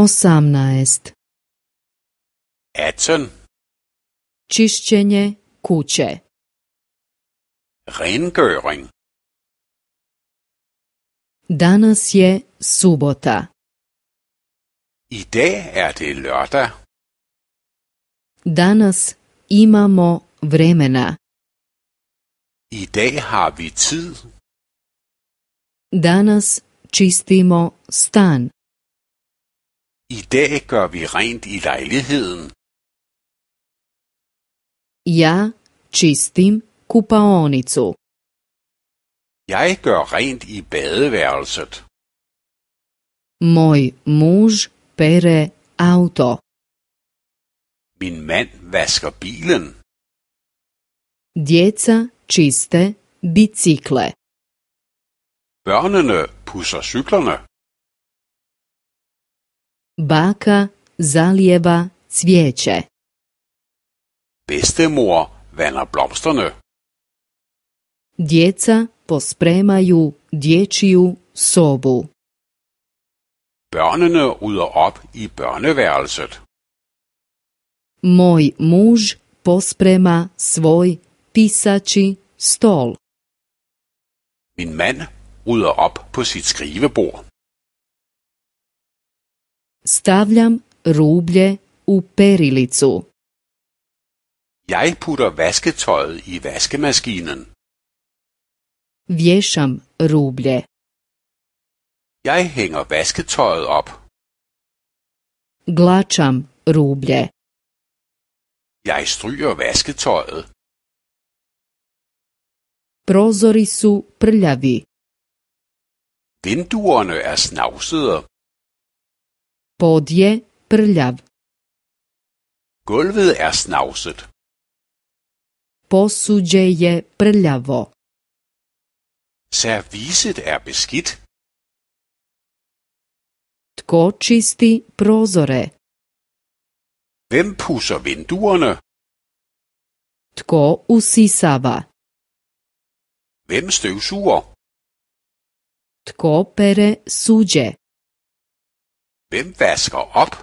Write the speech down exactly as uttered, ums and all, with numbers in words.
osamnaest. atten. Čišćenje kuće. Rengøring. Danas je subota. I dag er det lørdag. Danas imamo vremena. I dag har vi tid. Danas čistimo stan. I dag gør vi rent i lejligheden. Ja čistim kupaonicu. Jeg gør rent i badeværelset. Moj muž pere auto. Min mand vasker bilen. Djeca čiste bicikle. Børnene pudser cyklerne. Baka zalijeva cvijeće. Bedstemor vander blomsterne. Djeca pospremaju dječju sobu. Børnene rydder op i børneværelset. Moj muž posprema svoj pisači stol. Min mand rydder op på sit skrivebord. Stavljam rublje u perilicu. Jeg putter vasketøjet i vaskemaskinen. Vješam rublje. Jeg hænger vasketøjet op. Glačam rublje. Jeg stryger vasketøjet. Prozori su prljavi. Vinduerne er snavsede. Pod je prljav. Gulvet er snavset. Posuđe je prljavo. Serviset er beskidt. Tko čisti prozore? Hvem pudser vinduerne? Tko usisava? Hvem støvsuger? Tko pere suđe? Hvem vasker op?